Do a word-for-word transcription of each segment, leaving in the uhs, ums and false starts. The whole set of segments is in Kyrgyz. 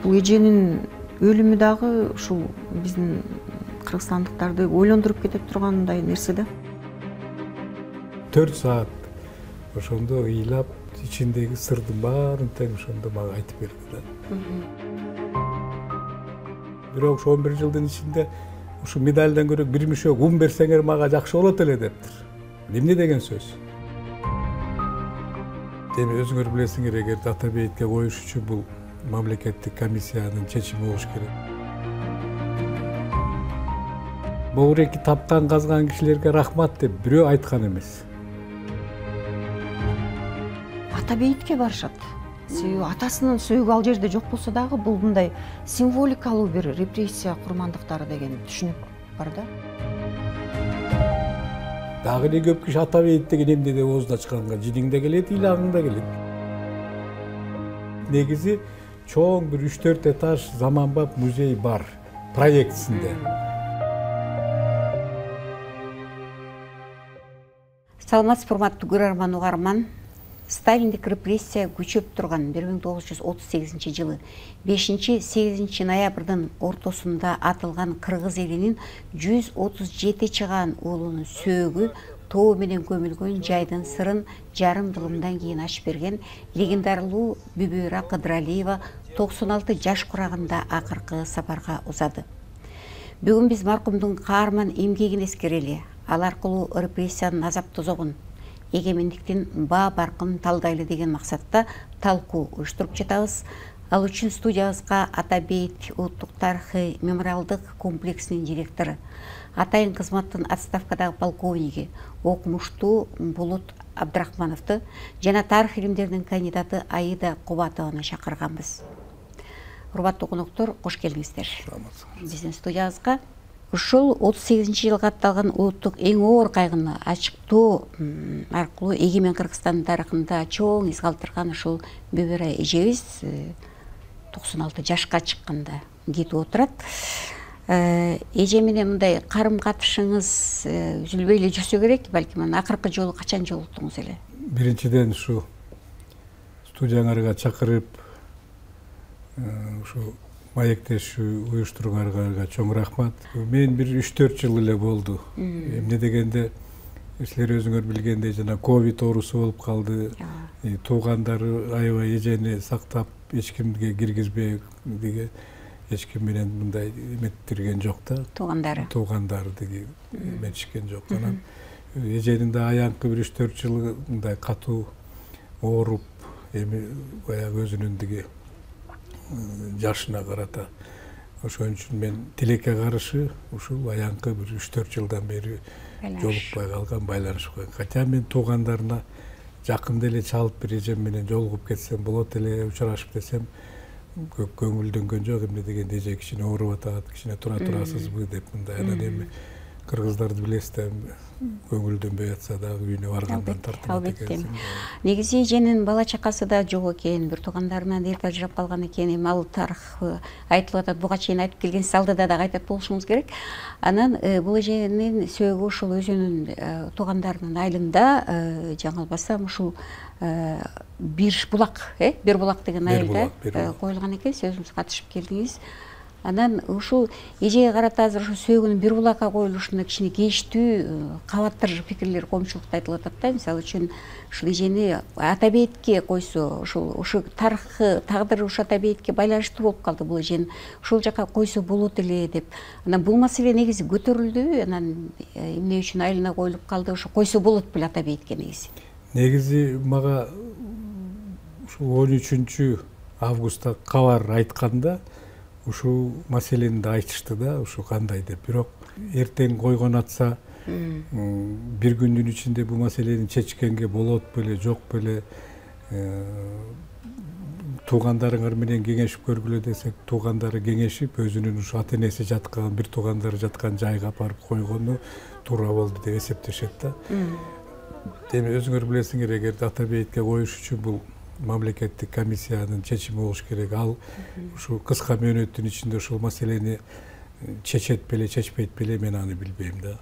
Бул эженин өлүмү дагы ушул биздин кыргызстандыктарды ойлондуруп кете тургандай нерсе да. төрт саат ошондо ыйлап, ичиндеги сырдын баарын тең ошондо мага айтып берди да. Бирок ошо он бир жылдын ичинде ушу медальдан көрө бир мишок ун берсеңер мага жакшы болот эле дептир. Эмне деген сөз? Эми өзүңөр билесиңер, эгер ата бейитке коюш үчүн бул мамлекеттик комиссиянын чечими болуш керек. Боуреки тапкан, казган кишилерге рахмат деп бирөө айткан эмес. Ата бейитке барышат. Себеби атасынын сөөгү ал жерде жок болсо дагы бул мындай символикалуу бир репрессия курмандыктары деген түшүнүк бар да. Дагы эле көп киши ата бейит деген эмне деп оозун ачканга жиниң да келет, ыйлагың да келет. Негизи чоң бир үч төрт этаж заманбап музей бар проектисинде. Саламатсызбы, урматтуу көрөрман, угарман. Сталиндик репрессия күчөп турган бир миң тогуз жүз отуз сегизинчи жылы бешинчи сегизинчи ноябрдын ортосунда атылган кыргыз элинин жүз отуз жети чыгаан уулунун сөөгү тоо менен көмүлгөн жайдын сырын жарым кылымдан кийин ачып берген легендарлуу Бүбүра Кыдыралиева токсон алты жаш курагында акыркы сапарга узады. Бүгүн биз маркумдун каарман эмгегин эскерели, ал аркылуу репрессиянын азап тозогун, эгемендиктин баа баркын талдайлы деген максатта талкуу уюштуруп жатабыз. Ал үчүн студиябызга Ата бейит улуттук тарыхый мемориалдык комплексинин директору, атайын кызматтын отставкадагы полковниги, окумуштуу Булут Абдрахмановду жана тарых илимдеринин кандидаты Аида Кубатованы чакырганбыз. Урматтуу коноктор, кош келиңиздер. Биздин студиябызга ушул отуз сегизинчи жылга атталган улуттук эң оор кайгыны ачыктоо аркылуу эгемен Кыргызстандын тарыхында чоң из калтырган ушул Бүбүра эжебиз токсон алты жашка чыкканда кетип отурат. Эже менен мындай карым катышыңыз үзүлбөй эле жүрсө керек, балким анан акыркы жолу качан жолуктуңуз эле? Биринчиден ушу студияңарга чакырып, ушу маектешүү уюштургандарга чоң рахмат. Мен бир үч төрт жыл эле болду. Эмне дегенде, силер өзүңөр билгендей жана ковид оорусу болуп калды. Туугандары аябай эжени сактап, эч кимге киргизбей деген, эч ким менен мындай эметтирген жок да. Туугандары. Туугандары деген эметишкен жок. Анан эженин да аянкы бир үч төрт жылы мындай катуу ооруп, эми баягы өзүнүн диги жашына карата. Ошон үчүн мен тилекке каршы ушул аянкы бир үч төрт жылдан бери жолукпай калган, байланышпай. Хотя мен туугандарына жакында эле чалып бир эжем менен жолугуп кетсем болот эле, учурашып десем көп көңүлдөнгөн жок. Эмне дегенде эже кичине ооруп атат, кичине тура турасызбы деп мындай. Анан эми кыргыздарды билесиз, көңүлдөнбөй атса дагы үйүнө баргандан тартынат экенсиң. Негизи эженин бала чакасы да жок экен, бир туугандарынан эрте ажырап калган экен. Эми ал тарых айтылып атат, буга чейин айтып келгенсиз, алдыда дагы айтат болушуңуз керек. Анан бул эженин сөөгү ушул өзүнүн туугандарынын айылында, жаңылбасам, ушул бир булак, э, бир булак деген айылда коюлган экен. Сөзүңүзгө катышып келдиңиз. Анан ушул эжеге карата азыр ушу сөөгүнүн бир булакка коюлушуна кичине кейиштүү кабаттар пикирлер коомчулукта айтылып атат да. Мисалы үчүн ушул эжени ата бейитке койсо, ушул ушу тарыхы, тагдыры ушу ата бейитке байланыштуу болуп калды, бул эжени ушул жака койсо болот эле деп. Анан бул маселе негизи көтөрүлдү. Анан эмне үчүн айылына коюлуп калды? Ошо койсо болот беле ата бейитке негизи? Негизи мага ушул он үчүнчү августта кабар айтканда ушул маселени да айтышты да, ушу кандай деп. Бирок эртең койгон атса, бир күндүн ичинде бул маселени чечкенге болот беле, жок беле, туугандарыңар менен кеңешип көргүлө десек, туугандары кеңешип, өзүнүн ушу ата энеси жаткан, бир туугандары жаткан жайга апарып койгону туура болду деп эсептешет да. Эми өзүңөр билесиңер, эгер ата бейитке коюш үчүн бул мамлекеттик комиссиянын чечими болуш керек. Ал ушул кыска мөөнөттүн ичинде ушул маселени чечет беле, чечпейт беле, мен аны билбейм да.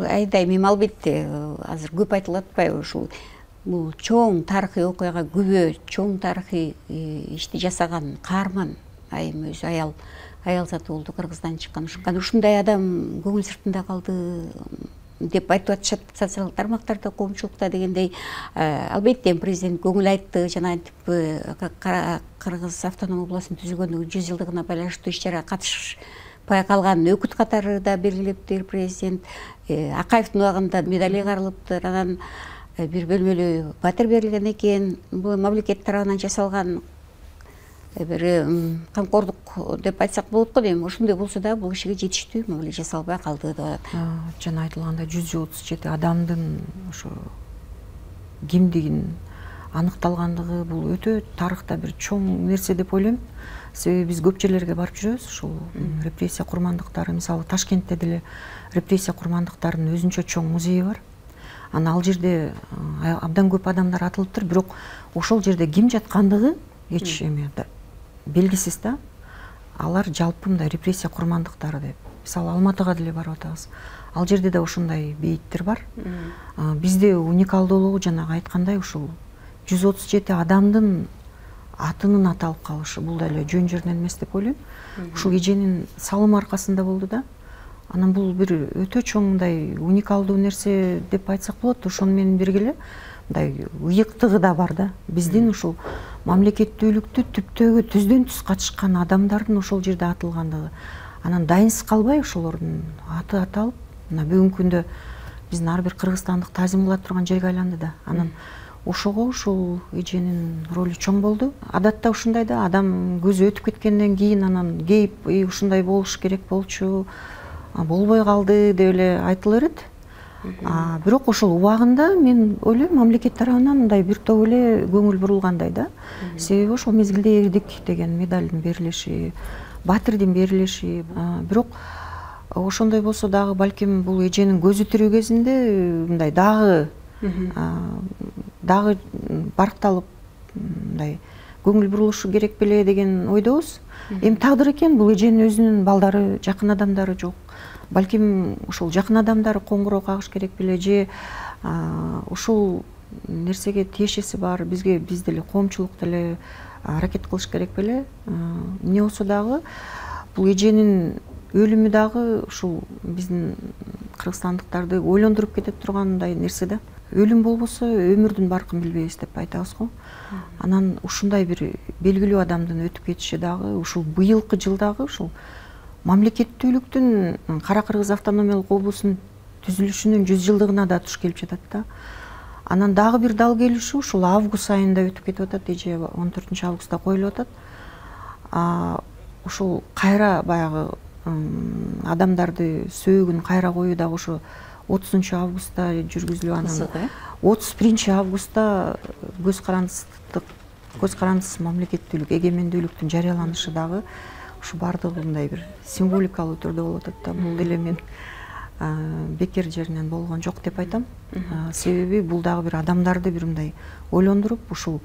Айдай, эми албетте азыр көп айтылып атпайбы, ушул бул чоң тарыхый окуяга күбө, чоң тарыхый ишти жасаган каарман айым өзү аял аял заты болду, Кыргыздан чыккан. Ушундай адам көңүл сыртында калды деп айтып атышат социалдык тармактарда, коомчулукта дегендей. Албетте президент көңүл айтты, жана антип Кыргыз автономия областынын түзүлгөндүгүнүн жүз жылдыгына байланыштуу иш-чарага катышпай калган өкүт катары да белгилептир президент. Акаевдин убагында медали каралыптыр, анан бир бөлмөлүү батир берилген экен. Бул мамлекет тарабынан жасалган бир камкордук деп айтсак болот го дейм. Ошондой болсо да бул кишиге жетиштүү мамиле жасалбай калды деп атат. Жана айтылгандай жүз отуз жети адамдын ошо кимдигин аныкталгандыгы бул өтө тарыхта бир чоң нерсе деп ойлойм. Себеби биз көп жерлерге барып жүрөбүз. Ушул репрессия курмандыктары, мисалы Ташкентте деле репрессия курмандыктарынын өзүнчө чоң музейи бар. Анан ал жерде абдан көп адамдар атылыптыр, бирок ошол жерде ким жаткандыгы эч эме белгисиз да. Алар жалпы мындай репрессия курмандыктары деп. Мисалы Алматыга деле барып атабыз. Ал жерде да ошондой бейиттер бар. Бизде уникалдуулугу жанагы айткандай ушул жүз отуз жети адамдын атынын аталып калышы бул деле жөн жеринен эмес деп ойлойм. Ушул эженин салымы аркасында болду да. Анан бул бир өтө чоң мындай уникалдуу нерсе деп айтсак болот. Ошону менен бирге эле мындай ыйыктыгы да бар да. Биздин ушул мамлекеттүүлүктү түптөгү түздөн түз катышкан адамдардын ошол жерде атылгандыгы. Анан дайынсыз калбай ошолордун аты аталып, мына бүгүнкү күндө биздин ар бир кыргызстандык таазим кыла турган жерге айланды да. Анан ошого ушул эженин ролу чоң болду. Адатта ушундай да, адам көзү өтүп кеткенден кийин анан кейип, ушундай болуш керек болчу, болбой калды деп эле айтыла берет. Бирок ошол убагында мен ойлойм мамлекет тарабынан мындай бир топ эле көңүл бурулгандай да. Себеби ошол мезгилде эрдик деген медалдын берилиши, батирдин берилиши. Бирок ошондой болсо дагы балким бул эженин көзү тирүү кезинде мындай дагы дагы баркталып мындай көңүл бурулушу керек беле деген ойдобуз. Эми тагдыр экен, бул эженин өзүнүн балдары, жакын адамдары жок. Балким ушул жакын адамдары коңгуроо кагыш керек беле, же ушул нерсеге тиешеси бар, бизге биз деле коомчулук деле аракет кылыш керек беле. Эмне болсо дагы бул эженин өлүмү дагы ушул биздин кыргызстандыктарды ойлондуруп кете тургандай нерсе да. Өлүм болбосо өмүрдүн баркын билбейбиз деп айтабыз го. Анан ушундай бир белгилүү адамдын өтүп кетиши дагы ушул быйылкы жылдагы ушул мамлекеттүүлүктүн Кара Кыргыз автономиялык облусунун түзүлүшүнүн жүз жылдыгына да туш келип жатат да. Анан дагы бир дал келишүү ушул август айында өтүп кетип атат, эже он төртүнчү августта коюлуп атат. Ушул кайра баягы адамдарды сөөгүн кайра коюу дагы ошо отузунчу августта жүргүзүлүп, анан отуз биринчи августта көз карандысыздык, көз карандысыз мамлекеттүүлүк, эгемендүүлүктүн жарыяланышы дагы ушу бардыгы мындай бир символикалуу түрдө болуп атат да. Бул деле мен бекер жеринен болгон жок деп айтам. Себеби бул дагы бир адамдарды бир мындай ойлондуруп, ушул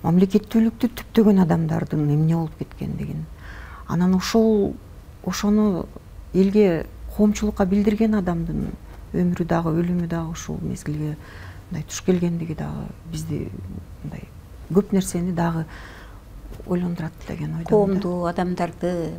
мамлекеттүүлүктү түптөгөн адамдардын эмне болуп кеткендигин, анан ошол ошону элге, коомчулукка билдирген адамдын өмүрү дагы, өлүмү дагы ушул мезгилге мындай туш келгендиги дагы бизди мындай көп нерсени дагы ойлондурат деген ойдомун. Коомду, адамдарды,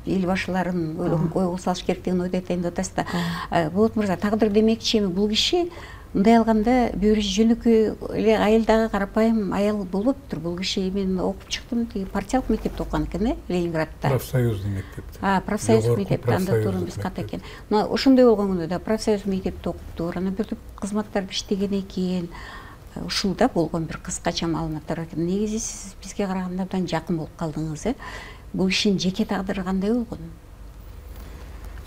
эл башыларын ойго салыш керек деген ойдо айтайын деп атасыз да. Болот мырза, тагдыр демекчи, эми бул киши мындай алганда бир жөнөкөй эле айылдагы карапайым аял болбоптур. Бул киши мен окуп чыктым, тиги партиялык мектепте окуган экен, э, Ленинградта. Профсоюздук мектепте. А, профсоюздук мектепте, анда турун биз кат экен. Мына ошондой болгондо да профсоюз мектепте окуптур, анан бир топ кызматтарда иштеген экен. Ушул да болгон бир кыскача маалыматтар экен. Негизи сиз бизге караганда абдан жакын болуп калдыңыз, э? Бул кишинин жеке тагдыры кандай болгон?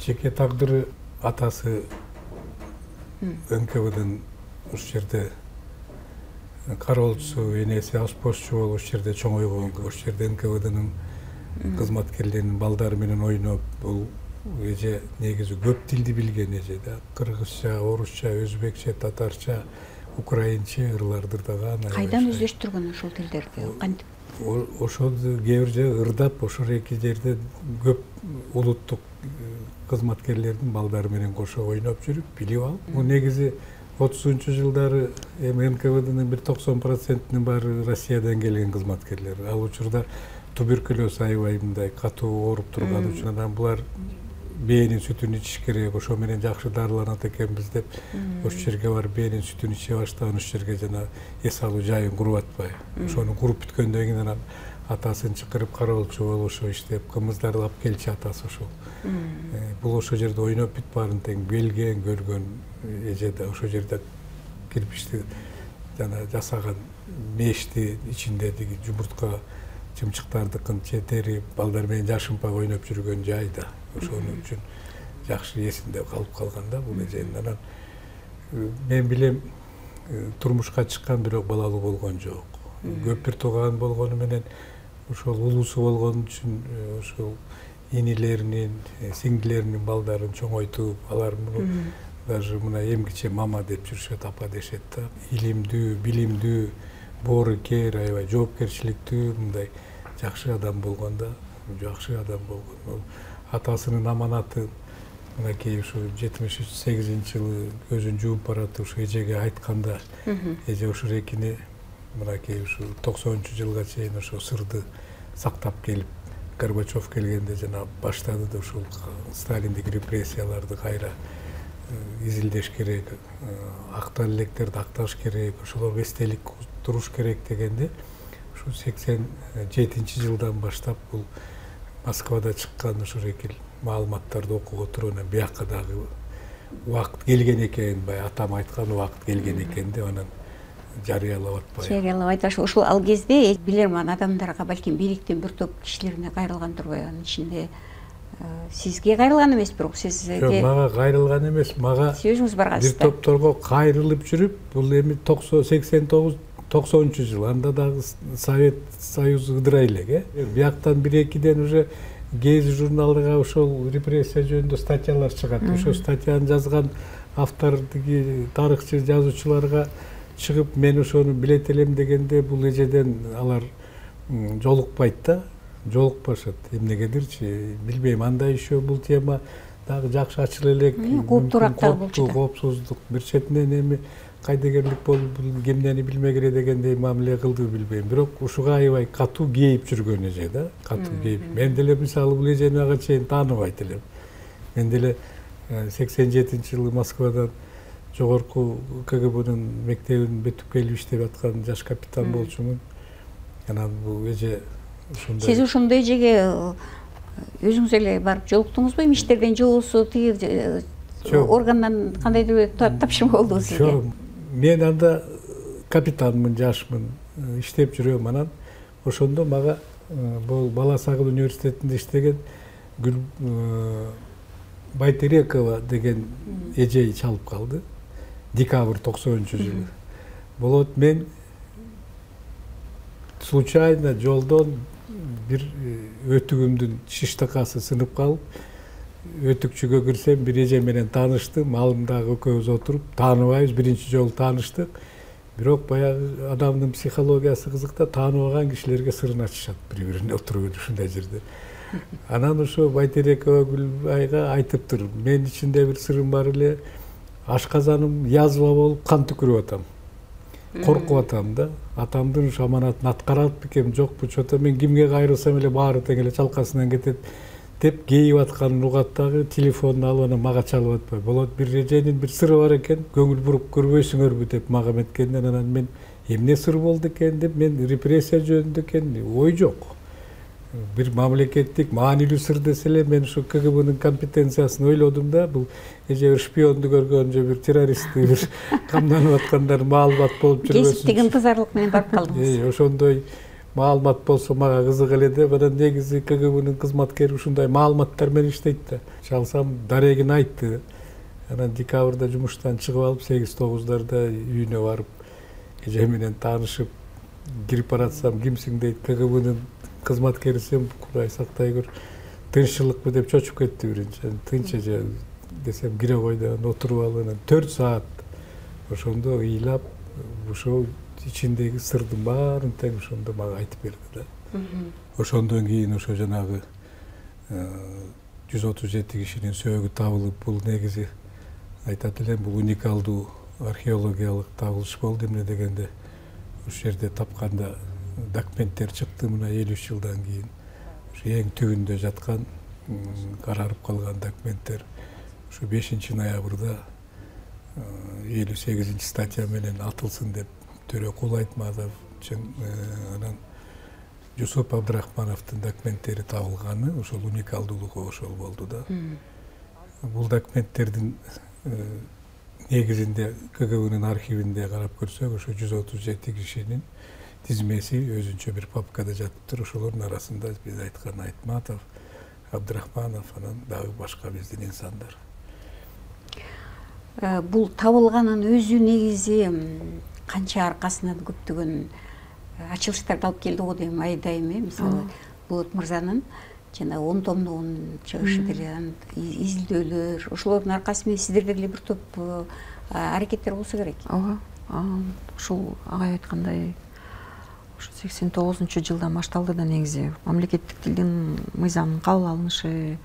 Жеке тагдыры атасы эн ка вэ-ден ушул жерде кароолчусу, энеси ашпозчу болуп ушул жерде чоңойгон, ушул жерде эн ка вэ-дин кызматкерлеринин балдары менен ойноп, бул эже негизи көп тилди билген эже да. Кыргызча, орусча, өзбекче, татарча, украинче ырлардырдаган. Кайдан өздөштүргөн ошол тилдерди? Кантип? Ошол кээ бир жерде ырдап, ошол эки жерде көп улуттук кызматкерлердин балдары менен кошо ойноп жүрүп, билип алып. Бул негизи отузунчу жылдары эми эн ка вэ дын бир токсон процентинин баары Россиядан келген кызматкерлер. Ал учурда туберкулез аябай мындай катуу ооруп турган үчүн анан булар бээнин сүтүн ичиш керек, ошо менен жакшы дарыланат экенбиз деп ошол жерге барып бээнин сүтүн иче баштаган, ошол жерге жана эс алуу жайын куруп атпайбы. Ошону куруп бүткөндөн кийин анан атасын чакырып кароолчу болуп ошо иштеп кымыздарды алып келчү атасы ошол. Бул ошол жерде ойноп бүт баарын тең белген, көргөн эже да ошол жерде кирпичти жана жасаган мешти ичиндеги жумуртка чымчыктардыкын четери балдар менен жашынпай ойноп жүргөн жай да. Ошону үчүн жакшы эсинде калып калган да бул эженин. Анан мен билем турмушка чыккан, бирок балалуу болгон жок. Көп бир тууган болгону менен ошол улуусу болгон үчүн ошол инилеринин, сиңдилеринин балдарын чоңойтуп, алар муну даже мына эмгиче мама деп жүрүшөт, апа дешет да. Илимдүү, билимдүү, боорукер, аябай жоопкерчиликтүү, мындай жакшы адам болгон да, жакшы адам болгон. Атасынын аманаты мынакей ушу жетимиш сегизинчи жылы көзүн жууп баратып ушу эжеге айтканда, эже ушул экини мынакей ушу токсонунчу жылга чейин ошо сырды сактап келип, Горбачев келгенде жана баштады да ушул Сталиндик репрессияларды кайра изилдеш керек, актал электерди акташ керек, ошолорго эстелик туруш керек дегенде, ушу сексен жетинчи жылдан баштап бул Москвада чыккан ушул экил маалыматтарды окуп отуруп, анан биякка дагы убакыт келген экен, бай атам айткан убакыт келген экен деп анан жарыялап атпайбы. Жарыялап айташ. Ушул ал кезде билерман адамдарга, балким бийликтин бир топ кишилерине кайрылган турбайбы? Анын ичинде сизге кайрылган эмес, бирок сизге Жок, мага кайрылган эмес, мага өзүңүз баргансыз. Бир топторго кайрылып жүрүп, бул эми сексен тогуз токсонунчу жыл, анда дагы Совет Союзу ыдырай элек, э. Бияктан бир-экиден уже Гези журналыга ошол репрессия жөнүндө статьялар чыгат. Ошол статьяны жазган автор, тиги тарыхчы жазуучуларга чыгып, мен ошону билет элем дегенде бул эжеден алар жолукпайт да, жолукпашат. Эмнегедирчи, билбейм, андай еще бул тема дагы жакшы ачыла элек. Кооптуураак болчу. Коопсуздук. Бир четинен эми кайдыгерлик болуп, бул кемнени билмегиле дегендей мамиле кылды билбейм. Бирок ушуга аябай катуу кейип жүргөн эже да, катуу кейип. Мен деле мисалы бул эжени ага чейин тааныбайт элем. Мен деле сексен жетинчи жылы Москвадан жогорку ка гэ бнын мектебин бүтүп келип иштеп аткан жаш капитан болчумун. Анан бул эже ушундай. Сиз ошондой эжеге өзүңүз эле барып жолуктуңузбу? Эми иштерден жолуусу, тиги органдан кандайдыр тапшырма болдубу сизге? Жок, мен анда капитанмын, жашмын, иштеп жүрөм. Анан ошондо мага бул Бала Сагыл университетинде иштеген Гүл Байтерекова деген эже чалып калды. Декабрь токсонунчу жылы. Болот, мен случайно жолдон бир өтүгүмдүн шиштакасы сынып калып, өтүкчүгө кирсем, бир эже менен тааныштым. Алымдагы экөөбүз отуруп, тааныбайбыз, биринчи жолу тааныштык. Бирок баягы адамдын психологиясы кызык да, тааныбаган кишилерге сырын ачышат бири-бирине отуруп ушундай жерде. Анан ошо Байтерекова Гүлбайга айтыптыр, мен ичинде бир сырым бар эле, ашказаным язва болуп кан түкүрүп атам. Коркуп атам да. Атамдын ушу аманатын аткарат бекем, жокпу, чото мен кимге кайрылсам эле баары тең эле чалкасынан кетет деп кейип атканын угат дагы, телефонун алып анан мага чалып атпай. Болот, бир эженин бир сыры бар экен, көңүл буруп көрбөйсүңөрбү деп мага эметкенден анан мен эмне сыр болду экен деп, мен репрессия жөнүндө экен ой жок. Бир мамлекеттик маанилүү сыр десе эле мен ушу ка гэ бнын компетенциясын ойлодум да, бул эже бир шпионду көргөн же бир террористти бир камданып аткандар маалымат болуп жүрбөсүн. Кесиптик ынтызарлык менен барып калдыңыз. Ошондой маалымат болсо мага кызык эле деп, анан негизи ка гэ бнын кызматкери ушундай маалыматтар менен иштейт да. Чалсам дарегин айтты. Анан декабрда жумуштан чыгып алып, сегиз тогуздарда үйүнө барып, эже менен таанышып, кирип баратсам, кимсиң дейт, ка гэ бнын кызматкерисин, Кудай сактай көр, тынччылыкпы деп чочуп кетти биринчи. Тынч эже десем, кире кой деп отуруп алып, анан төрт саат ошондо ыйлап, ошол ичиндеги сырдын баарын тең ошондо мага айтып берди да. Ошондон кийин ошо жанагы жүз отуз жети кишинин сөөгү табылып, бул негизи айтат элем, бул уникалдуу археологиялык табылыш болду. Эмне дегенде ушул жерде тапканда документтер чыкты. Мына элүү үч жылдан кийин ушу эң түбүндө жаткан карарып калган документтер ушу бешинчи ноябрда элүү сегизинчи статья менен атылсын деп Төрөкул Айтматов анан Жусуп Абдрахмановдун документтери табылганы ошол уникалдуулугу ошол болду да. Бул документтердин негизинде КГБнын архивинде карап көрсөк, ошо жүз отуз жети кишинин тизмеси өзүнчө бир папкада жатыптыр. Ошолордун арасында биз айткан Айтматов, Абдрахманов, анан дагы башка биздин инсандар. Бул табылганын өзү негизи канча аркасынан көптөгөн ачылыштарды алып келди го дейм, айдайм. Мисалы, Болот мырзанын жана он томдугун чыгышы деле, изилдөөлөр, ошолордун аркасы менен сиздерде деле бир топ аракеттер болсо керек. Ооба. Ушул агай айткандай, ушу сексен тогузунчу жылдан башталды да негизи мамлекеттик тилдин мыйзамынын кабыл алынышы.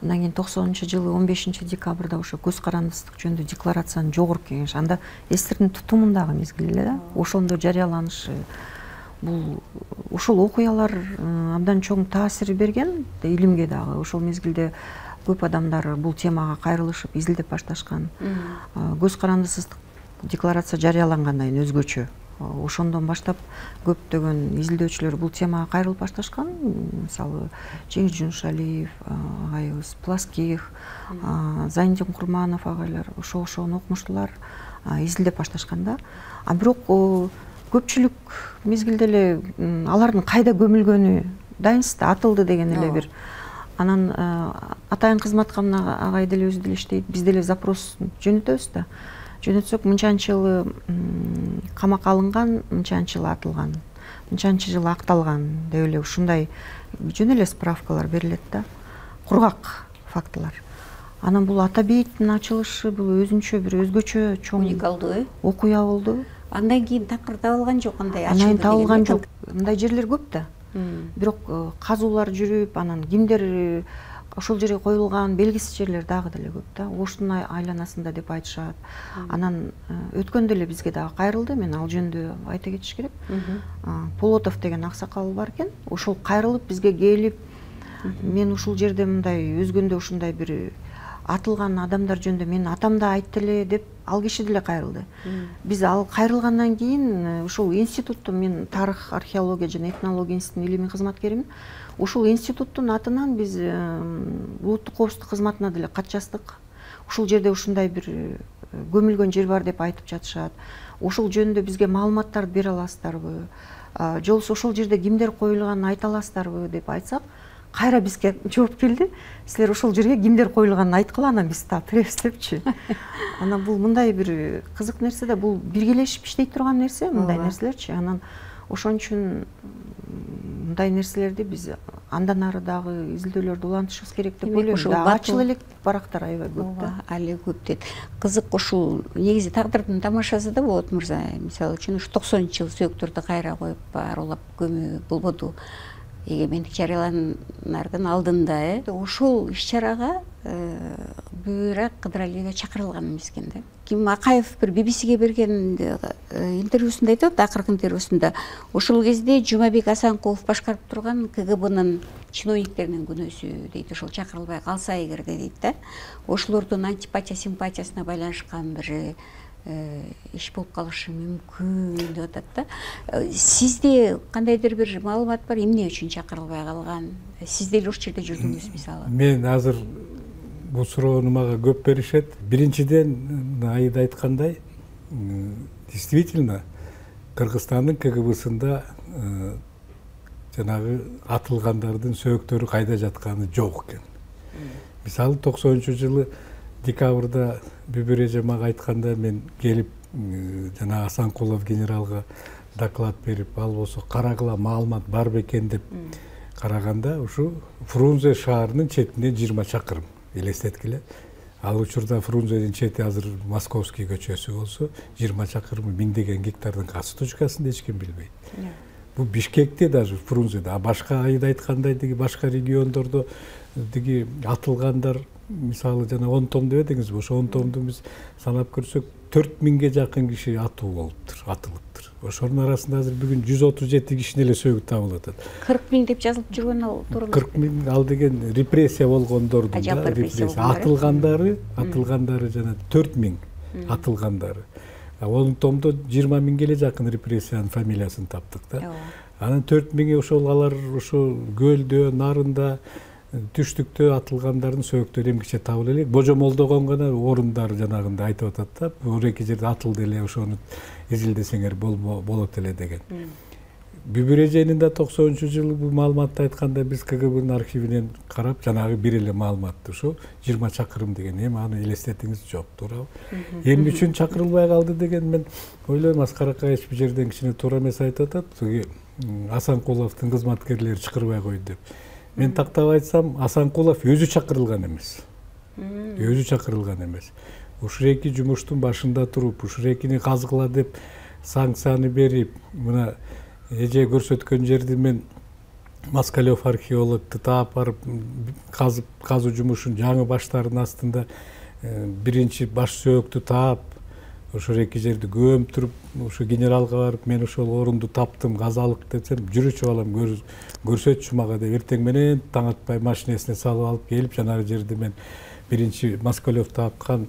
Андан кийин токсонунчу жылы он бешинчи декабрда ошо көз карандысыздык жөнүндө декларациянын жогорку кеңеш, анда эстердин тутумундагы мезгил эле да, ошондо жарыяланышы. Бул ушул окуялар абдан чоң таасир берген илимге дагы. Ошол мезгилде көп адамдар бул темага кайрылышып, изилдеп башташкан. Көз карандысыздык декларация жарыялангандан кийин өзгөчө. Ошондон баштап көптөгөн изилдөөчүлөр бул темага кайрылып башташкан. Мисалы, Жеңиш Жунушалиев агайыбыз, Пласких, Зайнидин Курманов агайлар ошо-ошону окумуштулар, изилдеп башташкан да. А бирок көпчүлүк мезгилде эле алардын кайда көмүлгөнү дайынсыз да, атылды деген эле бир. Анан атайын кызматкамын агай деле өзү деле иштейт. Биз деле запрос жөнөтөбүз да. Жөнөтсөк мынчанчы жылы камакка алынган, мынчанчы жылы атылган, мынчанчы жылы акталган деп эле ушундай жөн эле справкалар берилет да. Кургак фактылар. Анан бул ата бейиттин ачылышы бул өзүнчө бир өзгөчө чоң уникалдуу окуя болду. Андан кийин такыр табылган жок, андай ачылды. Андан табылган жок. Мындай жерлер көп да. Бирок казуулар жүрүп, анан кимдер ошол жерге коюлган белгисиз жерлер дагы деле көп да. Оштун айланасында деп айтышат. Анан өткөндө эле бизге дагы кайрылды. Мен ал жөнүндө айта кетиш керек. Полотов деген аксакал бар экен. Ошол кайрылып бизге келип, мен ушул жерде мындай өзгөндө ушундай бир атылган адамдар жөнүндө менин атам да айтты эле деп ал киши деле кайрылды. Биз ал кайрылгандан кийин ушул институтту, мен тарых, археология жана этнология институтунун илимий кызматкеримин. Ушул институттун атынан биз улуттук коопсуздук кызматына деле кат жаздык. Ушул жерде ушундай бир көмүлгөн жер бар деп айтып жатышат. Ошол жөнүндө бизге маалыматтарды бере аласыздарбы? Же болбосо ошол жерде кимдер коюлганын айта аласыздарбы деп айтсак, кайра бизге жооп келди. Силер ошол жерге кимдер коюлганын айткыла, анан биз так киребиз депчи. Анан бул мындай бир кызык нерсе да, бул биргелешип иштей турган нерсе, мындай нерселерчи. Анан ошон үчүн мындай нерселерди биз андан ары дагы изилдөөлөрдү улантышыбыз керек деп ойлойм. Ачыл элек барактар аябай көп да. Али көп дейт. Кызык, ушул негизи тагдырдын тамашасы да Болот мырза. Мисалы үчүн ушу токсонунчу жылы сөөктөрдү кайра коюп арулап көмүү болбоду. Эгемендик жарыяланардын алдында э ошол иш-чарага Бүйрак Кыдыралиеге чакырылган эмес экен да. Ким Акаев бир би би сиге берген интервьюсунда айтат, акыркы интервьюсунда ошол кезде Жумабек Асанкулов башкарып турган КГБнын чиновниктеринин күнөөсү дейт, ошол чакырылбай калса эгерде дейт да, ошолордун антипатия симпатиясына байланышкан бир иш болуп калышы мүмкүн деп атат да. Сизде кандайдыр бир маалымат бар, эмне үчүн чакырылбай калган? Сиз деле ошол жерде жүрдүңүз мисалы. Мен азыр бул суроону мага көп беришет. Биринчиден Аида айткандай, действительно Кыргызстандын КГБсында жанагы атылгандардын сөөктөрү кайда жатканы жок экен. Мисалы токсонунчу жылы декабрда Бүбүр эже мага айтканда, мен келип жана Асанкулов генералга доклад берип, ал болсо карагыла маалымат бар бекен деп караганда, ушу Фрунзе шаарынын четинен жыйырма чакырым элестеткиле. Ал учурда Фрунзенин чети азыр Московский көчөсү болсо, жыйырма чакырымы миңдеген гектардын касы точкасында эч ким билбейт. Бул Бишкекте даже Фрунзеде, а башка Аида айткандай деги башка региондордо деги атылгандар мисалы жана он том дебедиңизби, ошо он томду биз санап көрсөк төрт миңге жакын киши атуу болуптур, атылыптыр. Ошонун арасында азыр бүгүн жүз отуз жети кишинин эле сөөгү табылып атат. кырк миң деп жазылып жүргөн ал туура эмес. кырк миң ал деген репрессия болгондордун да, репрессия атылгандары, атылгандары жана төрт миң атылгандары. он томдо жыйырма миңге эле жакын репрессиянын фамилиясын таптык да. Анан төрт миңи ошол алар ошо көлдө, нарында, түштүктө атылгандардын сөөктөрү эмгиче табыла элек. Божомолдогон гана орундар жанагындай айтып атат да. Бул эки жерде атылды эле, ошону изилдесеңер болот эле деген. Бүбүр эженин да токсонунчу жылы бул маалыматты айтканда биз КГБнын архивинен карап жанагы бир эле маалыматты ошо жыйырма чакырым деген. Эми аны элестетиңиз жок, туурабы? Эмне үчүн чакырылбай калды деген мен ойлойм, Аскар Акаевич бул жерден кичине туура эмес айтып атат. Асанкуловдун кызматкерлери чакырбай койду деп. Мен тактап айтсам, Асанкулов өзү чакырылган эмес. Өзү чакырылган эмес. Ушул эки жумуштун башында туруп, ушул экини казгыла деп санкцияны берип, мына эже көрсөткөн жерди мен Москалев археологду таап барып казып, казуу жумушун жаңы баштардын астында биринчи баш сөөктү таап, ошол эки жерди көмтүрүп, ошо генералга барып, мен ошол орунду таптым, казалык десем, жүрүчү балам көрсөтчү мага деп, эртең менен таң атпай машинесине салып алып келип, жанагы жерди мен биринчи Москалев тапкан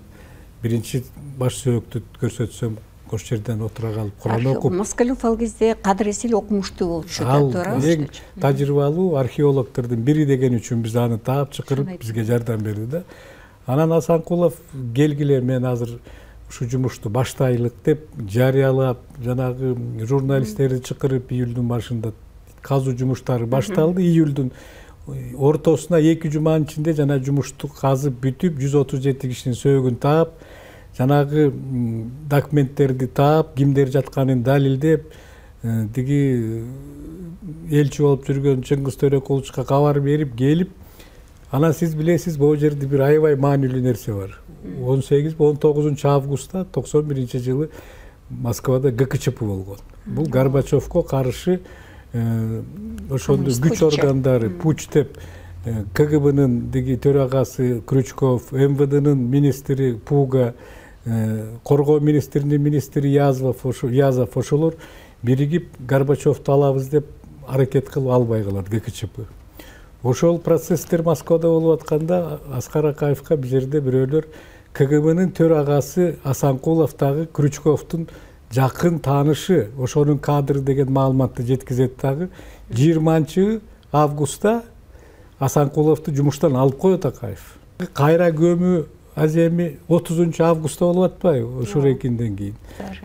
биринчи баш сөөктү көрсөтсөм, ошол жерден отура калып Куран окуп. Москалев ал кезде кадыресил окумуштуу болчу да, туура. Эң тажрыйбалуу археологдордун бири деген үчүн биз аны таап чакырып, бизге жардам берди да. Анан Асанкулов келгиле, мен азыр ушу жумушту баштайлык деп жарыялап, жанагы журналисттерди чакырып, июлдун башында казуу жумуштары башталды. Июлдун ортосуна эки жуманын ичинде жана жумушту казып бүтүп, жүз отуз жети кишинин сөөгүн таап, жанагы документтерди таап, кимдер жатканын далилдеп, тиги элчи болуп жүргөн Чыңгыз Төрөкуловичка кабар берип келип, анан сиз билесиз, бул жерде бир аябай маанилүү нерсе бар. он сегиз он тогузунчу августта токсон биринчи жылы Москвада ГКЧП болгон. Бул Горбачевко каршы ошондой күч органдары, пуч деп, КГБнын диги төрагасы Крючков, МВДнын министри Пуга, коргоо министринин министри Язов, Язов ошолор биригип Горбачевду алабыз деп аракет кылып албай калат ГКЧП. Ошол процесстер Москвада болуп атканда Аскар Акаевка бул жерде бирөөлөр КГБнын төрагасы Асанкулов дагы Крючковдун жакын таанышы, ошонун кадры деген маалыматты жеткизет дагы. жыйырманчы августта Асанкуловду жумуштан алып коет Акаев. Кайра көмүү аземи отузунчу августта болуп атпайбы, ошол экинден кийин.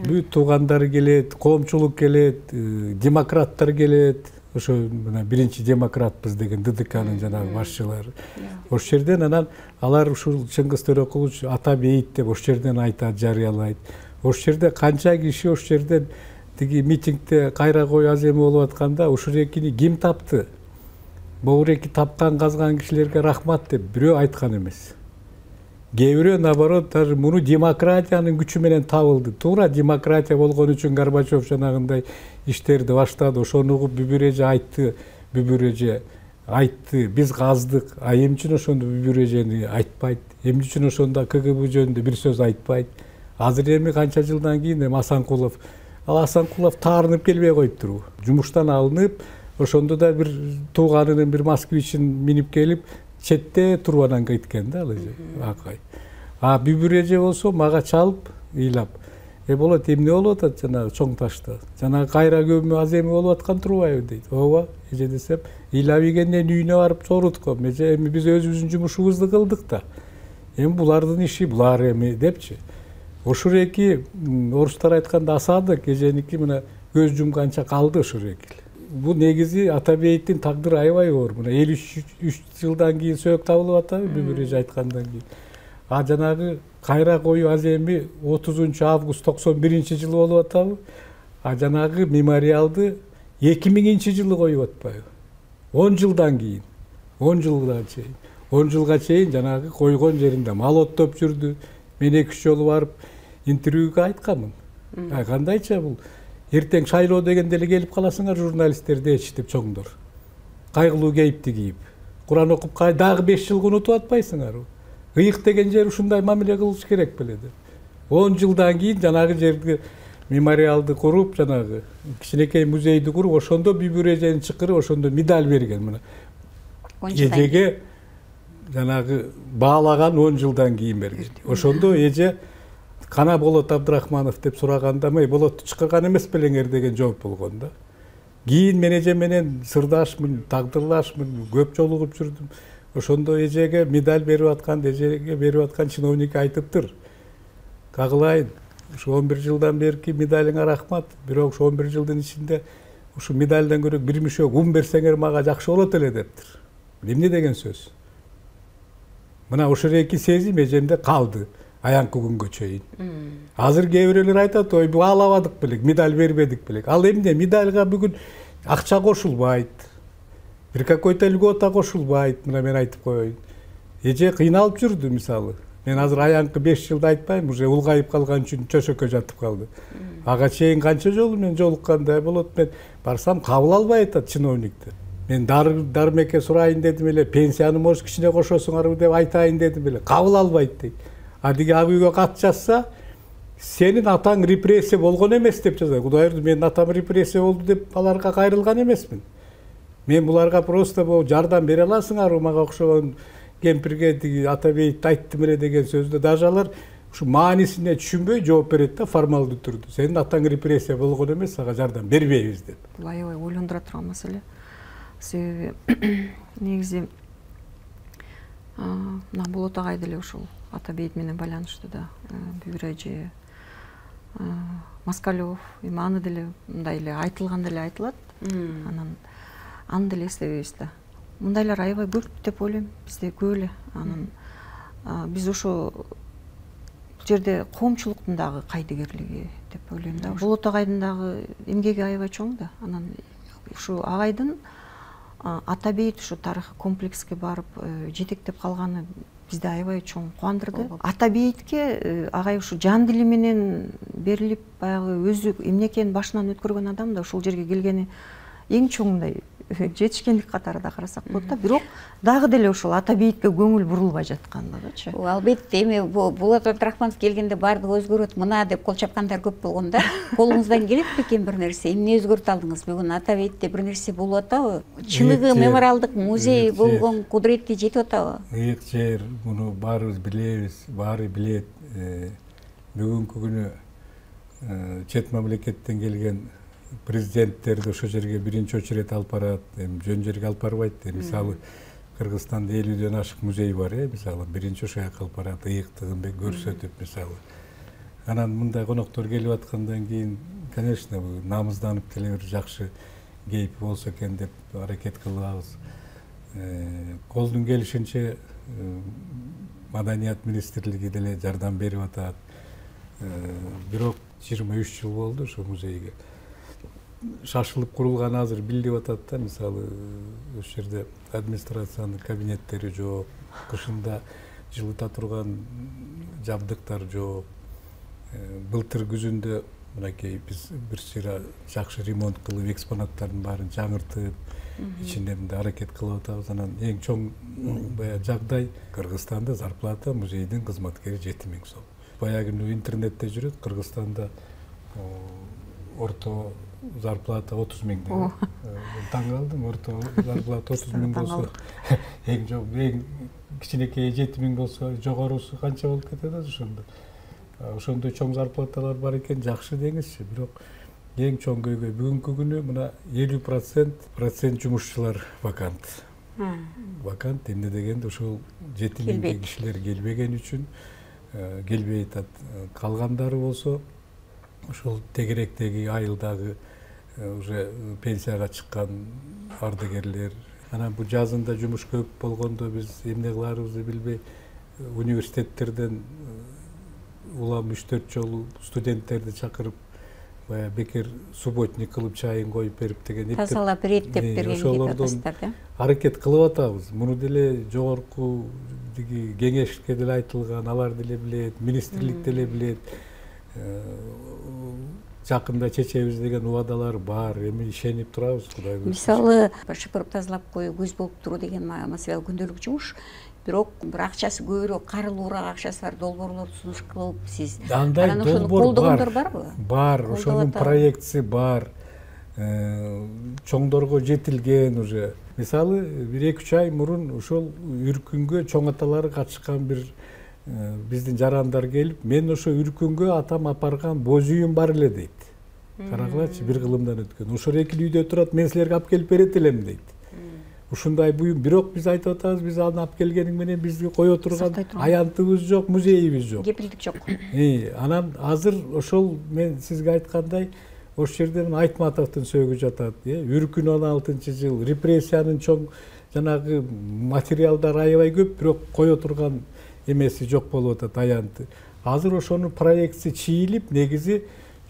Бүт туугандары келет, коомчулук келет, демократтар келет. Ошо мына биринчи демократбыз деген ДДКнын жанагы башчылары. Ошол жерден анан алар ушул Чыңгыз Төрөкулович ата бейит деп ошол жерден айтат, жарыялайт. Ошол жерде канча киши ошол жерден тиги митингде кайра кой аземи болуп атканда ушул экини ким тапты? Бул эки тапкан, казган кишилерге рахмат деп бирөө айткан эмес. Кээ бирөө наоборот, даже муну демократиянын күчү менен табылды. Туура демократия болгон үчүн Горбачев жанагындай иштерди баштады. Ошону угуп Бүбүр эже айтты, Бүбүр эже айтты, биз каздык. А эмне үчүн ошондо Бүбүр эжени айтпайт? Эмне үчүн ошондо КГБ жөнүндө бир сөз айтпайт? Азыр эми канча жылдан кийин эми Асанкулов, ал Асанкулов таарынып келбей коюптурбу? Жумуштан алынып, ошондо да бир тууганынын бир москвичин минип келип, четте туруп анан кеткен да ал эже. Акай. А Бүбүр эже болсо мага чалып, ыйлап, Э болот, эмне болуп атат жанагы чоң ташта? Жанагы кайра көмүү аземи болуп аткан турбайбы дейт. Ооба, эже десем, ыйлап ийгенден үйүнө барып сорутком. Эже, эми биз өзүбүздүн жумушубузду кылдык да. Эми булардын иши, булар эми депчи. Ошол эки орустар айтканда асадык, эженики мына көз жумганча калды ошол эки. Бул негизи ата бейиттин тагдыры аябай оор. Мына элүү үч жылдан кийин сөөк табылып атабы, Бүбүр эже айткандан кийин. А жанагы кайра коюу аземи отузунчу август токсон биринчи жылы болуп атабы? А жанагы мемориалды эки миңинчи жылы коюп атпайбы? он жылдан кийин. он жылга чейин. он жылга чейин жанагы койгон жеринде мал оттоп жүрдү. Мен эки үч жолу барып интервьюга айтканмын. А кандайча бул? Эртең шайлоо дегенде эле келип каласыңар журналисттер дечи деп чоңдор. Кайгылуу кейипти кийип. Куран окуп дагы беш жылга унутуп атпайсыңарбы? ыйык деген жер ушундай мамиле кылыш керек беле деп. он жылдан кийин жанагы жерди мемориалды куруп, жанагы кичинекей музейди куруп, ошондо Бүбүр эжени чакырып, ошондо медаль берген. Мына эжеге жанагы баалаган он жылдан кийин берген. Ошондо эже кана Болот Абдрахманов деп сураганда, "Мей Болотту чакырган эмес белеңер" деген жооп болгон да. Кийин мен эже менен сырдашмын, тагдырлашмын, көп жолугуп жүрдүм. Ошондо эжеге медаль берип аткан, эжеге берип аткан чиновник айтыптыр. Кагылайын, ушу он бир жылдан берки медалиңа рахмат, бирок ушу он бир жылдын ичинде ушу медальдан көрө бир мишок ун берсеңер мага жакшы болот эле дептир. Эмне деген сөз? Мына ошол эки сезим эжемде калды аянкы күнгө чейин. Азыр кээ бирөөлөр айтат, "Ой, баалабадык белек, медаль бербедик белек." Ал эмне? Медальга бүгүн акча кошулбайт. Бир какой-то льгота кошулбайт. Мына мен айтып коеюн. Эже кыйналып жүрдү, мисалы. Мен азыр аянкы беш жылда айтпайм, уже улгайып калган үчүн чөшөккө жатып калды. Ага чейин канча жолу мен жолуккандай болот, мен барсам кабыл албай атат чиновникти. Мен дармекке сурайын дедим эле, пенсияны может кичине кошосуңарбы деп айтайын дедим эле, кабыл албайт дейт. А деги ак үйгө кат жазса, сенин атаң репрессия болгон эмес деп жазат. Кудай ырды, менин атам репрессия болду деп аларга кайрылган эмесмин. Мен буларга просто бул жардам бере аласыңарбы, мага окшогон кемпирге тиги Атабейт айттым эле деген сөздү даже алар ушу маанисине түшүнбөй жооп берет да, формалдуу түрдө. Сенин атаң репрессия болгон эмес, ага жардам бербейбиз деп. Бул аябай ойлондура турган маселе. Себеби негизи мына Болот агай деле ушул Атабейт менен байланыштуу да, Бүбүр эже, Москалев, эми аны деле мындай эле айтылган деле айтылат. Анан аны деле эстебейбиз да. Мындайлар аябай көп деп ойлойм, бизде көп эле. Анан биз ошо бул жерде коомчулуктун дагы кайдыгерлиги деп ойлойм да. Болот агайдын дагы эмгеги аябай чоң да. Анан ушу агайдын Атабейт ушу тарыхый комплекске барып жетектеп калганы бизди аябай чоң кубандырды. Атабейтке агай ушу жан дили менен берилип, баягы өзү эмне экенин башынан өткөргөн адам да, ушул жерге келгени эң чоңундай жетишкендик катары да карасак болот да. Бирок дагы деле ошол Атабейтке көңүл бурулбай жаткандыгычы. Албетте, эми Болот Абдрахманов келгенде баардыгы өзгөрөт мына деп кол чапкандар көп болгон да. Колуңуздан келет бекен бир нерсе? Эмне өзгөртө алдыңыз? Бүгүн Атабейтте бир нерсе болуп атабы? Чыныгы мемориалдык музей болгон кудуретти жетип атабы? Ыйык жер, муну баарыбыз билебиз, баары билет. Бүгүнкү күнү чет мамлекеттен келген президенттерди ошол жерге биринчи очередь алып барат, эми жөн жерге алып барбайт. Мисалы Кыргызстанда элүүдөн ашык музей бар, э, мисалы биринчи ошол жака алып барат, ыйыктыгын көрсөтүп, мисалы. Анан мындай коноктор келип аткандан кийин, конечно, намызданып деле бир жакшы кейп болсо экен деп аракет кылабыз. Колдун келишинче Маданият министрлиги деле жардам берип атат. Бирок жыйырма үч жыл болду ошол музейге. Шашылып курулган азыр билип атат да, мисалы ошол жерде администрациянын кабинеттери жок, кышында жылыта турган жабдыктар жок. Былтыр күзүндө мынакей биз бир сыйра жакшы ремонт кылып, экспонаттардын баарын жаңыртып, ичинде мындай аракет кылып атабыз. Анан эң чоң баягы жагдай Кыргызстанда зарплата музейдин кызматкери жети миң сом. Баягы интернетте жүрөт, Кыргызстанда орто зарплата отуз миң деп. Таң калдым, орто зарплата отуз миң болсо, эң жок, эң кичинекей жети миң болсо, жогорусу канча болуп кетет ошондо. Ошондой чоң зарплаталар бар экен, жакшы деңизчи. Бирок эң чоң көйгөй бүгүнкү күнү мына элүү процент процент жумушчулар вакант. Вакант эмне дегенде ошол жети миңге кишилер келбеген үчүн келбей атат. Калгандары болсо ошол тегеректеги айылдагы уже пенсияга чыккан ардагерлер. Анан бул жазында жумуш көп болгондо биз эмне кыларыбызды билбей университеттерден улам үч төрт жолу студенттерди чакырып, бая бекер субботник кылып чайын коюп берип деген тазалап берет деп берген ошолордон аракет кылып атабыз. Муну деле жогорку диги кеңешке деле айтылган, алар деле билет, министрлик деле билет. Жакында чечебиз деген убадалар бар, эми ишенип турабыз, Кудай буйрса. Мисалы, шыпырып тазалап коюу, көз болуп туруу деген маселе күндөлүк жумуш. бирок бир акчасы көбүрөөк карылуураак акчасы бар долбоорлорду сунуш кылып сиз андай анан ошону долбоор колдогондор барбы? Бар, ошонун проектиси бар, чоңдорго жетилген уже. Мисалы бир эки үч ай мурун ошол Үркүнгө чоң аталары катышкан бир биздин жарандар келип, мен ошо Үркүнгө атам апарган боз үйүм бар эле дейт. Карагылачы, бир кылымдан өткөн. Ошол экили үйдө турат, мен силерге алып келип берет элем дейт. Ушундай буюм, бирок биз айтып атабыз, биз аны алып келгениң менен бизди кое турган аянтыбыз жок, музейибиз жок. Кепилдик жок. Анан азыр ошол мен сизге айткандай, ошол жерде Айтматовдун сөөгү жатат. Үркүн он алтынчы жыл, репрессиянын чоң жанагы материалдар аябай көп, бирок кое турган эмеси жок болуп атат, аянты. Азыр ошонун проектиси чийилип, негизи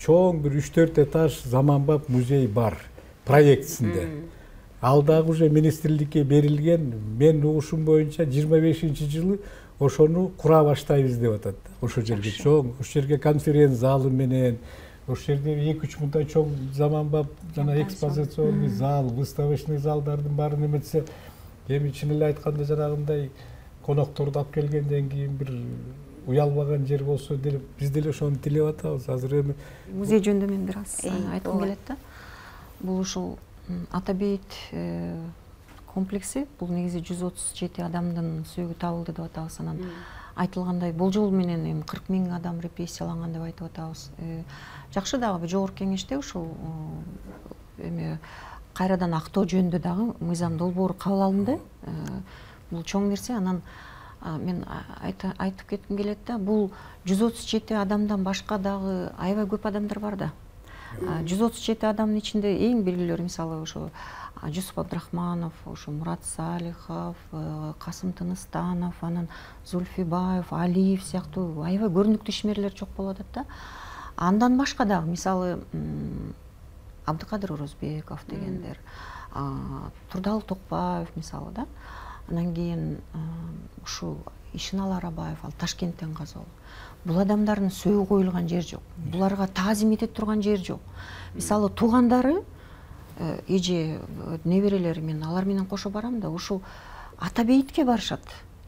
чоң бир үч төрт этаж заманбап музей бар проектисинде. Ал дагы уже министрликке берилген, мен угушум боюнча жыйырма бешинчи жылы ошону кура баштайбыз деп атат. Ошол жерге чоң, ошол жерге конференц залы менен, ошол жерде эки үч мындай чоң заманбап жана экспозиционный зал, выставочный залдардын баарын эметсе, эми чын эле айтканда жанагындай конокторду алып келгенден кийин бир уялбаган жер болсо деп биз деле ошону тилеп атабыз. Азыр эми музей жөнүндө мен бир аз айткым келет да. Бул ушул Ата бейит комплекси, бул негизи жүз отуз жети адамдын сөөгү табылды деп атабыз. Анан айтылгандай болжол менен эми кырк миң адам репрессияланган деп айтып атабыз. Жакшы дагы жогорку кеңеште ушул эми кайрадан актоо жөнүндө дагы мыйзам долбоору кабыл алынды. Бул чоң нерсе. Анан мен айтып кетким келет да, бул жүз отуз жети адамдан башка дагы аябай көп адамдар бар да. жүз отуз жети адамдын ичинде эң белгилүү, мисалы ошо Жусуп Абдрахманов, ошо Мурат Салихов, Касым Тыныстанов, анан Зульфибаев, Алиев сыяктуу аябай көрүнүктүү ишмерлер жок болуп атат да. Андан башка дагы мисалы Абдыкадыр Орозбеков дегендер, Турдалы Токпаев мисалы да. Анан кийин ушул Ишинал Арабаев, ал Ташкенттен казалуу. Бул адамдардын сөөгү коюлган жер жок. Буларга таазим эте турган жер жок. Мисалы туугандары, эже, неберелери, мен алар менен кошо барам да, ушул Ата бейитке барышат.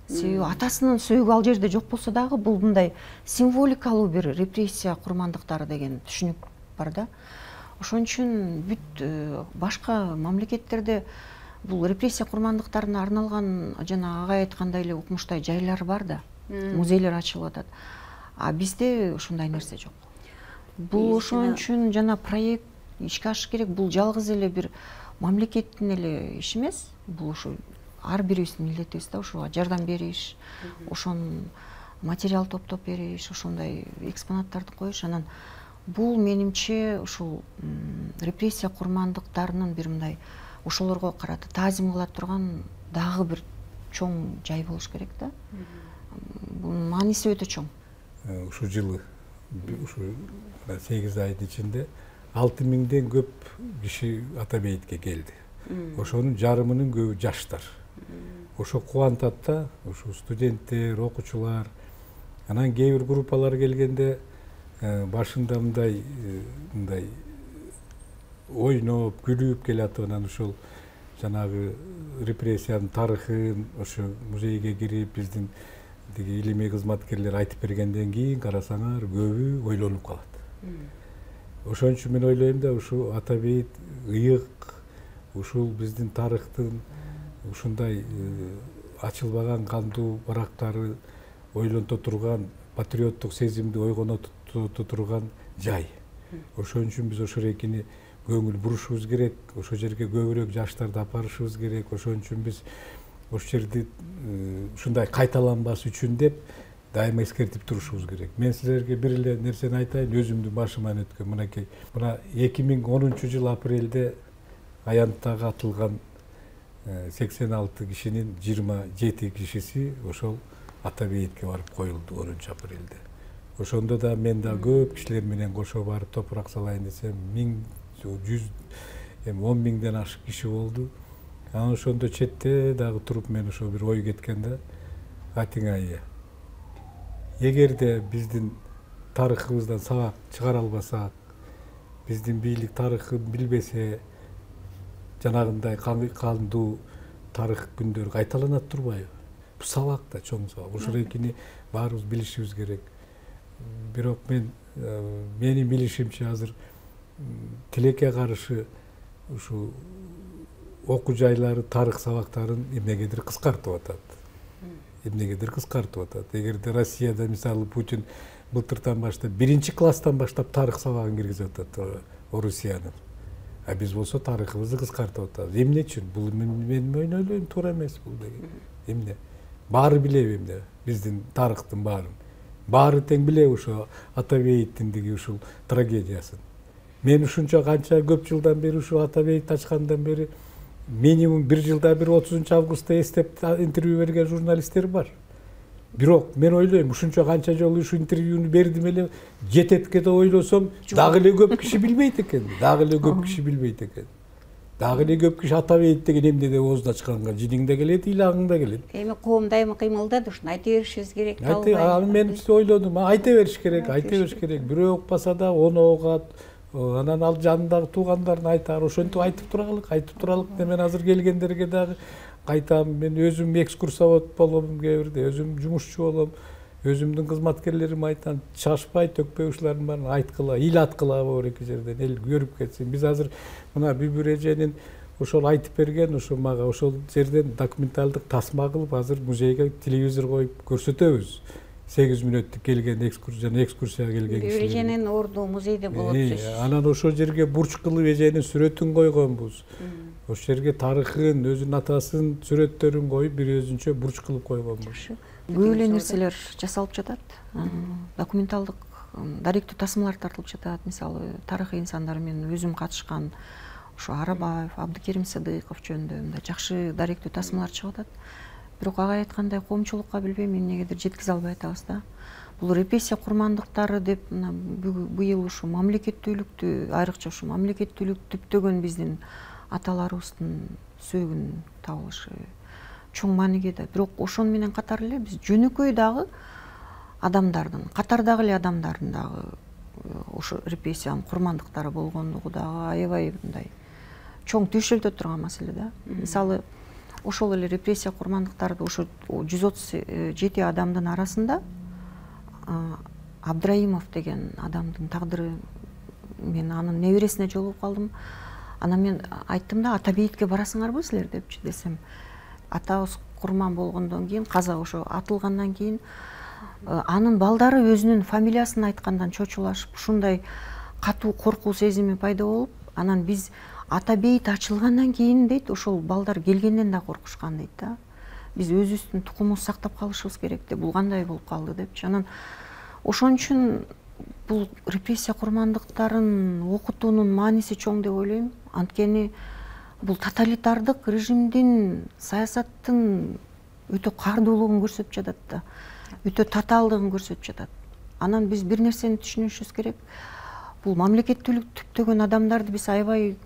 Себеби атасынын сөөгү ал жерде жок болсо дагы бул мындай символикалуу бир репрессия курмандыктары деген түшүнүк бар да. Ошон үчүн бүт башка мамлекеттерде бул репрессия курмандыктарына арналган жана агай айткандай эле укмуштай жайлар бар да. Музейлер ачылып атат. А бизде ушундай нерсе жок. Бул ошон үчүн жана проект ишке ашыш керек. Бул жалгыз эле бир мамлекеттин эле иши эмес. Бул ушу ар бирибиздин милдетибиз да, ушуга жардам бериш, ошон материал топтоп бериш, ошондой экспонаттарды коюш. Анан бул менимче ушул репрессия курмандыктарынын бир мындай ошолорго карата таазим кыла турган дагы бир чоң жай болуш керек да. Бунун мааниси өтө чоң. Ушул жылы ушу сегиз айдын ичинде алты миңден көп киши Ата бейитке келди. Ошонун жарымынын көбү жаштар. Ошо кубантат да, ушу студенттер, окуучулар. Анан кээ бир группалар келгенде башында мындай мындай ойноп, күлүп келатып, анан ушул жанагы репрессиянын тарыхын ошо музейге кирип биздин тиги илимий кызматкерлер айтып бергенден кийин карасаңар көбү ойлонуп калат. Ошон үчүн мен ойлойм да, ушу Ата бейит ыйык, ушул биздин тарыхтын ушундай ачылбаган кандуу барактары ойлонто турган, патриоттук сезимди ойгоното турган жай. Ошон үчүн биз ошол экини көңүл бурушубуз керек, ошол жерге көбүрөөк жаштарды апарышыбыз керек. Ошон үчүн биз ошол жерди ушундай кайталанбас үчүн деп дайыма эскертип турушубуз керек. Мен силерге бир эле нерсени айтайын, өзүмдүн башыман өткөн. Мынакей, мына эки миң онунчу жыл апрелде аянттагы атылган сексен алты кишинин жыйырма жети кишиси ошол Ата бейитке барып коюлду онунчу апрелде. Ошондо да мен да көп кишилер менен кошо барып топурак салайын десем, миң, жүз, эми он миңден ашык киши болду. Анан ошондо четте дагы туруп мен ошо бир ой кеткен да, атиңай. Эгерде биздин тарыхыбыздан сабак чыгара албасак, биздин бийлик тарыхын билбесе, жанагындай кандуу тарых күндөр кайталанат турбайбы? сабак да чоң сабак. Ушул экини баарыбыз билишибиз керек. Бирок мен менин билишимче азыр тилекке каршы ушу окуу жайлары тарых сабактарын эмнегедир кыскартып атат. Эмнегедир кыскартып атат. Эгерде Россияда мисалы Путин былтыртан баштап биринчи класстан баштап тарых сабагын киргизип атат Орусиянын. А биз болсо тарыхыбызды кыскартып атабыз. Эмне үчүн? Бул мен ойлойм туура эмес бул деген. Эмне? Баары билеби эмне? Биздин тарыхтын баарын. Баары тең билеби ошо Атабеевдиндиги ушул трагедиясын. Мен ушунча канча көп жылдан бери ушу Атабеевди ачкандан бери минимум бир жылда бир отузунчу августта эстеп интервью берген журналисттер бар. Бирок мен ойлойм ушунча канча жолу ушу интервьюну бердим эле жететке деп ойлосом, дагы эле көп киши билбейт экен. Дагы эле көп киши билбейт экен. Дагы эле көп киши Атабеевди деген эмне деп оозду ачканга жиниң да келет, ыйлагың да келет. Эми коом дайыма кыймылдады, ушуну айта беришибиз керек. Аны мен ойлодум, айта бериш керек, айта бериш керек. Бирөө укпаса да оны угат, анан ал жанындагы туугандарына айтаар, ошентип айтып туралык, айтып туралык. Мен азыр келгендерге дагы кайтам, мен өзүм экскурсовод болом кээ бирде, өзүм жумушчу болом, өзүмдүн кызматкерлериме айтам, чашпай, төкпөй ушулардын баарын айткыла, ил аткыла бар эки жерден, эл көрүп кетсин. Биз азыр мына Бүбүр эженин ошол айтып берген, ошо мага ошол жерден документалдык тасма кылып азыр музейге телевизор коюп көрсөтөбүз. сегиз мүнөттүк келген экскурсия, экскурсияга келген кишилер. Бүбүр эженин орду музейде болот. Анан ошол жерге бурч кылып эженин сүрөтүн койгонбуз. Ошол жерге тарыхын, өзүнүн атасынын сүрөттөрүн коюп, бир өзүнчө бурч кылып койгонбуз. Көп эле нерселер жасалып жатат. Документалдык даректүү тасмалар тартылып жатат. Мисалы, тарыхый инсандар менен өзүм катышкан ошо Арабаев, Абдыкерим Сыдыков жөнүндө мындай жакшы даректүү тасмалар чыгып атат. Бирок ага айткандай коомчулукка билбейм эмнегедир жеткизе албай атабыз да. Бул репрессия курмандыктары деп быйыл ушу мамлекеттүүлүктү, айрыкча ушу мамлекеттүүлүктү түптөгөн биздин аталарыбыздын сөөгүн табылышы чоң мааниге да. Бирок ошону менен катар эле биз жөнөкөй дагы адамдардын, катардагы эле адамдардын дагы ошо репрессиянын курмандыктары болгондугу дагы аябай мындай чоң түйшөлтө турган маселе да. Мисалы, ошол эле репрессия курмандыктарды ошо жүз отуз жети адамдын арасында Абдраимов деген адамдын тагдыры, мен анын небересине жолугуп калдым. Анан мен айттым да, Атабеевдке барасыңарбы силер депчи, десем, атабыз курман болгондон кийин, каза ошо атылгандан кийин анын балдары өзүнүн фамилиясын айткандан чочулашып, ушундай катуу коркуу сезими пайда болуп, анан биз Атабейт ачылгандан кийин дейт, ошол балдар келгенден да коркушкан дейт да. Биз өзүбүздүн тукумубузду сактап калышыбыз керек деп, бул кандай болуп калды депчи. Анан ошон үчүн бул репрессия курмандыктарын окутуунун мааниси чоң деп ойлойм. Анткени бул тоталитардык режимдин, саясаттын өтө кардуулугун көрсөтүп жатат да, өтө татаалдыгын көрсөтүп жатат. Анан биз бир нерсени түшүнүшүбүз керек. Бул мамлекеттүүлүк түптөгөн адамдарды биз аябай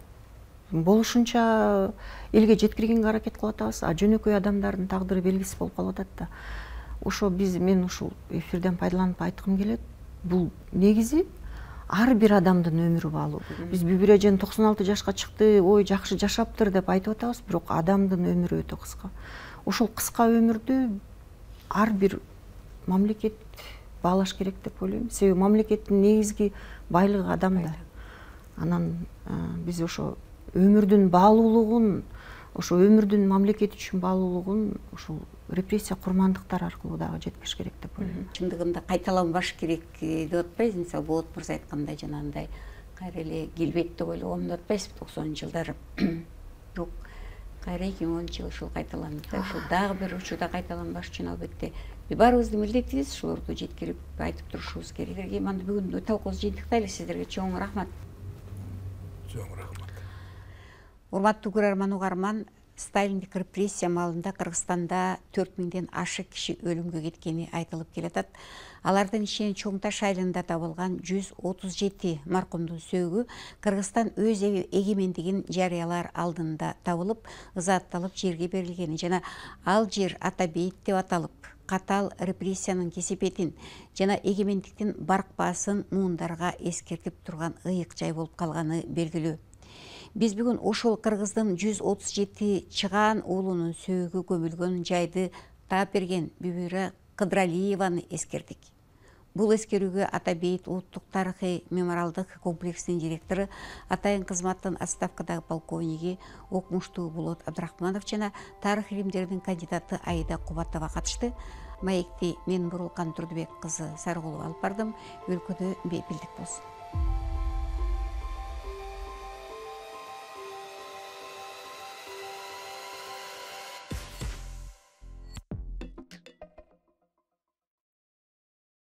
болушунча элге жеткиргенге аракет кылып атабыз, а жөнөкөй адамдардын тагдыры белгисиз болуп калып атат да. Ошо биз, мен ушул эфирден пайдаланып айткым келет. Бул негизи ар бир адамдын өмүрү баалуу. Биз Бүбүр эжен токсон алты жашка чыкты, ой жакшы жашаптыр деп айтып атабыз, бирок адамдын өмүрү өтө кыска. Ошол кыска өмүрдү ар бир мамлекет баалаш керек деп ойлойм. Себеби мамлекеттин негизги байлыгы адамда. Анан биз ошо өмүрдүн баалуулугун, ошо өмүрдүн мамлекет үчүн баалуулугун ушул репрессия курмандыктар аркылуу дагы жеткириш керек деп ойлойм. Чындыгында кайталанбаш керек деп атпайбыз. Мисалы, Болот мырза айткандай, жанагындай кайра эле келбейт деп ойлогонду атпайбыз токсонунчу жылдары. Бирок кайра эки миң онунчу жылы ушул кайталанды да, ушул дагы бир учурда кайталанбаш үчүн албетте баарыбыздын милдетибиз ушулорду жеткирип айтып турушубуз керек. Мына бүгүн талкуубузду жыйынтыктайлы. Сиздерге чоң рахмат. Чоң рахмат. Урматтуу көрөрман угарман, Сталиндик репрессия маалында Кыргызстанда төрт миңден ашык киши өлүмгө кеткени айтылып келатат. Алардын ичинен Чоң Таш айылында табылган жүз отуз жети маркумдун сөөгү Кыргызстан өз эгемендигин жарыялар алдында табылып, ызаатталып жерге берилгени жана ал жер Атабейт деп аталып, катаал репрессиянын кесепетин жана эгемендиктин баркпаасын муундарга эскертип турган ыйык жай болуп калганы белгилүү. Биз бүгүн ошол кыргыздын жүз отуз жети чыгаан уулунун сөөгү көмүлгөн жайды таап берген Бүбүра Кыдыралиеваны эскердик. Бул эскерүүгө Ата Бейит улуттук тарыхый мемориалдык комплексинин директору, атайын кызматтын отставкадагы полковниги Окмуштуу Болот Абдрахманов жана тарых илимдеринин кандидаты Аида Кубатова катышты. Маекти мен Бурулкан Турдубек кызы Сарыгулова алып бардым. Өлкөдө бейпилдик болсун.